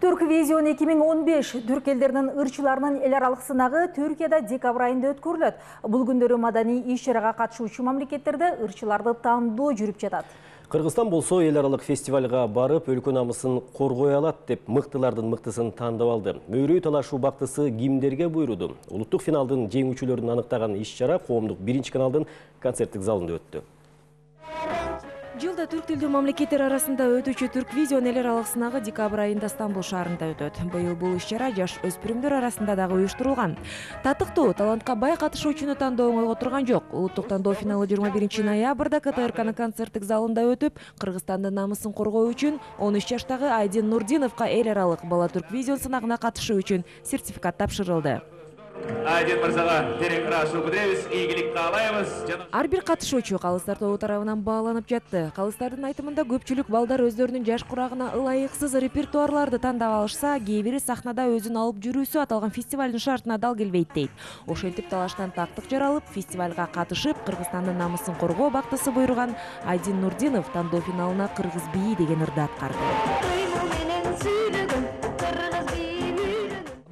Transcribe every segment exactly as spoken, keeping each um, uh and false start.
Turkvision эки миң он беш түрк элдеринин ырчыларынын эл аралык сынагы Түркияда декабрь айында өткөрүлөт. Бул күндөрү маданий иш-чарага катышуучу мамлекеттерде ырчыларды тандоо жүрүп жатат. Кыргызстан болсо эл аралык фестивалга барып, өлкө намысын коргой алат деп мыктылардын мыктысын тандап алды. Мөйрөй талашуу бактысы кимдерге буйруду? Улуттук финалдын жеңүүчүлөрүн аныктаган иш-чара Коомдук биринчи каналдын концерттик залында өттү. Жылда түрк тилдүү мамлекеттер арасында өтүүчү Turkvision эл аралык сынагы декабрь айында Стамбул шаарында өтөт. Быйыл бул иш-чара жаш өспүрүмдөр арасында дагы уюштурулган. Татыктуу, талантка бай катышуучуну тандоо оңойго турган жок. Улуттук тандоо финалы жыйырма биринчи ноябрда КТРКнын концерттик залында өтүп, Кыргызстандын намысын коргоо үчүн он үч жаштагы Айдин Нурдиновго эл аралык бала Turkvision сынагына катышуу үчүн сертификат тапшырылды. Айдин мырзага терең ырашуу билдиребиз, ийгилик каалайбыз. Ар бир катышуучу калыстар тобу тарабынан бааланып жатты. Калыстардын айтымында көпчүлүк балдар өздөрүнүн жаш курагына ылайыксыз репертуарларды тандап алышса, кээ бири сахнада өзүн алып жүрүүсү аталган фестивалдын шартына дал келбейт дейт. Ошентип талаштан тактык жаралып, фестивалга катышып, Кыргызстандын намысын коргоо бактысы буйруган Айдин Нурдинов тандоо финалына Кыргыз бийи деген ырды аткарды.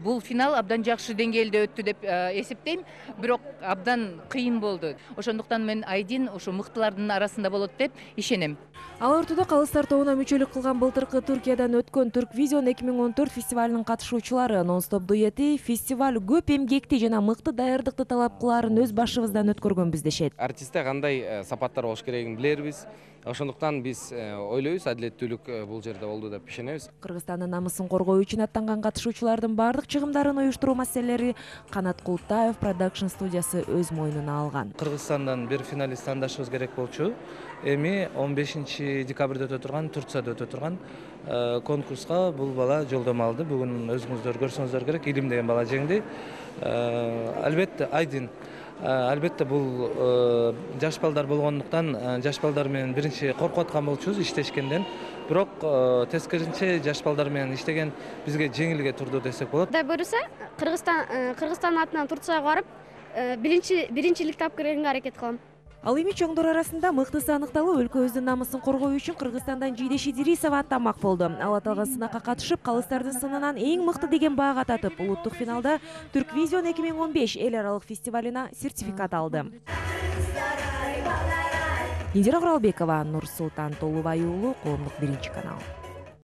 Бул финал абдан жакшы деңгээлде өттү деп эсептейм, бирок абдан кыйын болду. Ошондуктан мен Айдин ошо мыктылардын арасында болот деп ишенем. Ал ортодо калыстар тобуна мүчөлүк кылган былтыркы Түркиядан өткөн Turkvision эки миң он төрт фестивалынын катышуучулары нон-стоп дуэти фестиваль көп эмгекти жана мыкты даярдыкты талап кылаарын өз башыбыздан өткөргөнбүз дешет. Артистте кандай сапаттар болуш керегин билербиз. Ошондуктан биз ойлойбуз, адилеттүүлүк бул жерде болду деп ишенебиз. Кыргызстандын намысын коргоо үчүн аттанган катышуучулардын баардык чыгымдарын уюштуруу маселелери Канат Култаев продакшн студиясы өз мойнуна алган. Кыргызстандан бир финалист тандашыбыз керек болчу. Эми он бешинчи декабрда өтө турган, Турцияда өтө турган конкурска бул бала жолдомо алды. Бүгүн өзүңүздөр көрсөңүздөр керек, Илим деген бала жеңди. Албетте Айдин Албетте бул жаш балдар болгондуктан жаш балдар менен биринчи коркуп аткан болчубуз иштешкенден. Бирок тескерисинче жаш балдар менен иштеген бизге жеңилге турду десек болот. Кудай буйруса, Кыргызстан Кыргызстандын атынан Турцияга барып, биринчи биринчиликти алып келгенге аракет кылам. Ал эми чоңдор арасында мыктысы аныкталып, өлкө өздүн намысын коргоо үчүн Кыргызстандан Жийдеш Идирисова аттанмак болду. Ал аталган сынакка катышып, калыстардын сынынан эң мыкты деген баага татып, улуттук финалда Turkvision эки миң он беш эл аралык фестивалына сертификат алды. Индира Куралбекова, Нурсултан Толубай уулу, Коомдук биринчи канал.